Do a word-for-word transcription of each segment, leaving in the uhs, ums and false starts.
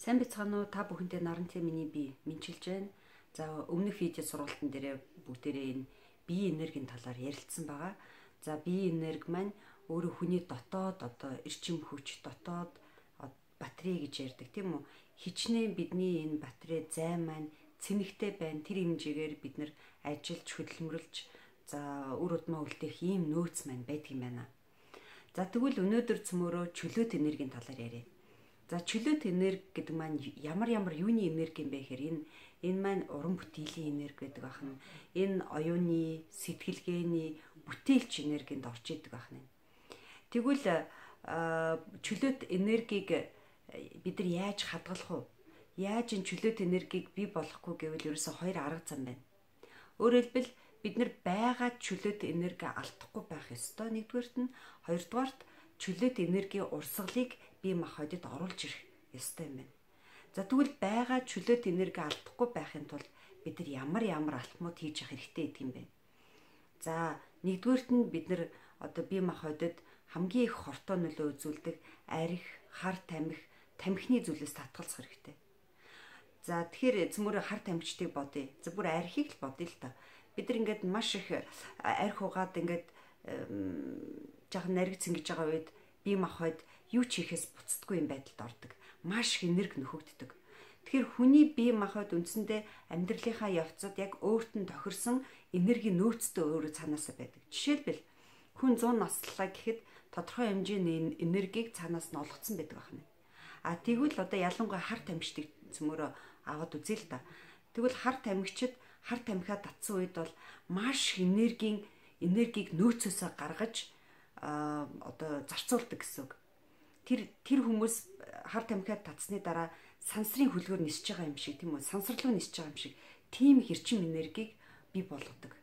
Сайн бацгаана уу? Та бүхэнтэй нарантай миний бие мэдчилж байна. За өмнөх видео сургалтын дээр бүгдээрээ энэ биеийн энергийн талаар ярилцсан байгаа. За биеийн энерги маань өөрөө хүний дотоод одоо эрчим хүч, дотоод батарей гэж ярьдаг тийм үү? Хичнээн бидний энэ батарей зай маань цэнэгтэй байна. Тэр хэмжээгээр бид нар ажиллаж хөдөлмөрлж за үр удмаа үлдээх ийм нөөц маань байдаг юм байна. За тэгвэл өнөөдөр цөмөрөө чөлөөт энергийн талаар яриа. За чөлөөт энерги гэдэг маань ямар ямар юуны энерги юм бэ гэхээр энэ энэ маань уран бүтээлийн энерги гэдэг байна. Энэ оюуны, сэтгэлгээний, бүтээлч энергинд орж идэг байна. Тэгвэл чөлөөт энергийг бид нар яаж хадгалах вэ? Яаж энэ чөлөөт энергийг бий болгохгүй гэвэл ерөөсө хоёр арга зам байна. Өөрөөр хэлбэл бид нар байгаа чөлөөт энерги алдахгүй байх ёстой. Нэгдүгээрт нь, хоёрдугаарт чөлөөт энергийн урсгалыг бие махбодод оруулж ирэх ёстой юм байна. За тэгвэл байгаа чөлөөт энерги алдахгүй байхын тулд бид нар ямар ямар алтмууд хийж явах хэрэгтэй гэдэг юм бэ? За нэгдүгээрт нь бид нар одоо бие махбодод хамгийн их хортой нөлөө үзүүлдэг арх, хар тамхи, тамхины зүйлээс татгалзах хэрэгтэй. За тэгэхээр цөмөрө хар тамхичдыг бодъё. За бүр архийг л бодъё л та. Бид нар ингээд маш их арх угаад ингээд жоохон нариг цэнгэж байгаа үед бие махбод юу ч хийхээс буцдаггүй юм байдалд ордог. Маш их энерги нөхөгддөг. Тэгэхээр хүний бие махбод үндсэндээ амьдралынхаа явцад яг өөрт нь тохирсон энерги нөөцтэй өөрөө цаанаасаа байдаг. Жишээлбэл хүн зуун насллаа гэхэд тодорхой хэмжээний энергийг цаанаас нь олгоцсон байдаг байна. А тэгвэл одоо ялангуяа хар тамхичдыг цөмөрөө аваад үзье л да. Тэгвэл хар тамхичд хар тамхиа татсан үед бол маш энергийн энергийг нөөцөөсөө гаргаж а одоо зарцуулдаг гэсэн үг. Тэр тэр хүмүүс хар тамхиа татсны дараа сансрын хөлгөөр нисэж байгаа юм шиг тийм үү? Сансарлуу нисэж байгаа юм шиг тийм хэрчим энергийг бий болгодог.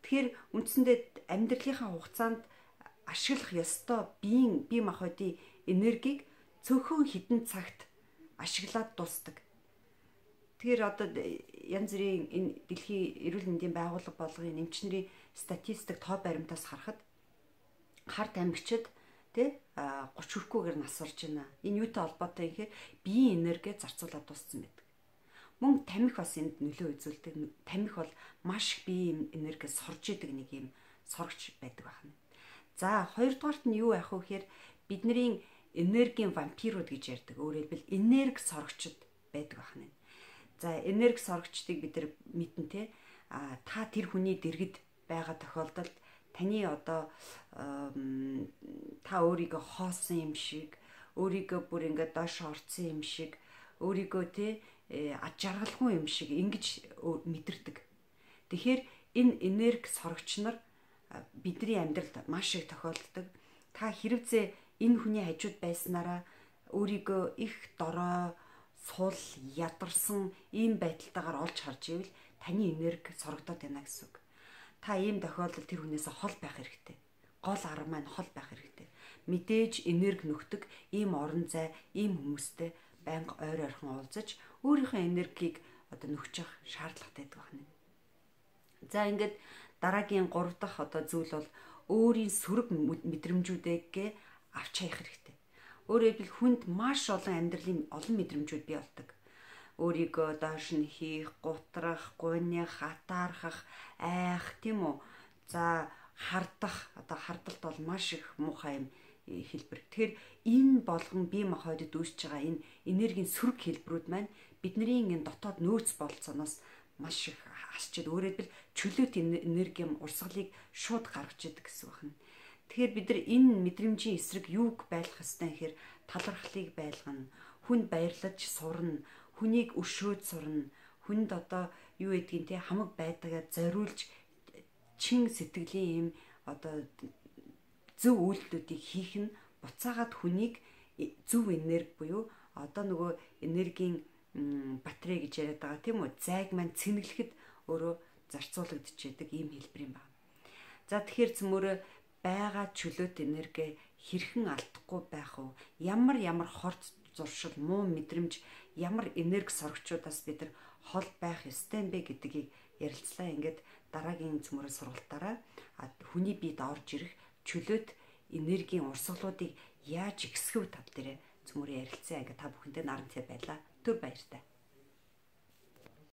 Тэгэхээр үндсэндээ амьдралынхаа хугацаанд ашиглах ёстой биеийн бие махбодын энергийг цөөхөн хідэн цагт ашиглаад дуусдаг. Тэгэхээр одоо янз бүрийн энэ дэлхийн эрүүл мэндийн байгууллага болгоны эмчнэрийн статистик тоо баримтаас харахад хар тамхичд тэ гурван хүрэхгүйгээр насварж байна. Энэ юутай холбоотой юм гэхээр биеийн энерги зарцуулаад дууссан байдаг. Мөн тамхи бас энд нөлөө үзүүлдэг. Тамхи бол маш их биеийн энерги сорж идэг нэг юм сорогч байдаг байна. За хоёрдугаарт нь юу яах вэ гэхээр бидний энергийн вампирууд гэж ярьдаг. Өөрөөр хэлбэл энерги сорогчд байдаг байна. За энерги сорогчдыг бид нар мэднэ те. А та тэр хүний дэргэд байгаа тохиолдолд таны одоо та өөрийгөө хоосон юм шиг, өөрийгөө бүр ингээд доош орцсон юм шиг, өөрийгөө те ад жаргалгүй юм шиг ингэж мэдэрдэг. Тэгэхээр энэ энерги сорогч нар бидний амьдралд маш их тохиолддог. Та хэрвээ энэ хүний хажууд байснараа өөрийгөө их дорой, сул, ядарсан ийм байдалтайгаар олж харж ивэл таны энерги сорогдоод байна гэсэн үг. Та ийм тохиолдолд тэр хүнээс хол байх хэрэгтэй. Гол арга маань хол байх хэрэгтэй. Мэдээж энерги нөхдөг ийм орон зай, ийм хүмүүстэй байнга ойр ойрхон уулзаж өөрийнхөө энергийг одоо нөхж явах шаардлагатай байдаг байна. За ингээд дараагийн гурав дахь одоо зүйл бол өөрийн сөрөг мэдрэмжүүдээ авч хаях хэрэгтэй. Өөрөөр хэлбэл хүнд маш олон амьдралын олон мэдрэмжүүд бий болдог. Өөрийгөө доош нь хийх, гутрах, гуйнах, атаархах, айх тийм үү? За хардах, одоо хардалт бол маш их муухай юм хэлбэр. Тэгэхээр энэ болгон бие махбодод үүсэж байгаа энэ энергийн сөрөг хэлбэрүүд маань бидний энэ дотоод нөөц болцооноос маш их хасчихэд өөрөөр хэлбэл чөлөөт энергийн урсгалыг шууд гаргаж идэг гэсэн үг байна. Тэгэхээр бид нар энэ мэдрэмжийн эсрэг юуг байлгах ёстой гэхээр талархлыг байлгана, хүнд баярлаж сурна, хүнийг өшөөд сурна, хүнд одоо юу гэдгийг те хамаг байдгаа зориулж чин сэтгэлийн юм одоо зөв үйлдэлүүдийг хийх нь буцаагаад хүнийг зөв энерги буюу одоо нөгөө энергийн батарей гэж яриад байгаа тийм үү? Зайг маань цэнэглэхэд өөрөө зарцуулагдчихэдэг ийм хэлбэр юм байна. За тэгэхээр цөмөрө байгаа чөлөөт энерги хэрхэн алдахгүй байх вэ? Ямар ямар хорт зуршил, муу мэдрэмж, ямар энерги сорогчдоос бид нар хол байх ёстой юм бэ гэдгийг ярилцлаа. Ингээд дараагийн цөмөрөө сургалтаараа хүний биед орж ирэх чөлөөт энергийн урсгалуудыг яаж ихсгэв тал дээр цөмөрөө ярилцсан. Ингээ та бүхэндээ наран цай байлаа. Түр баяртай.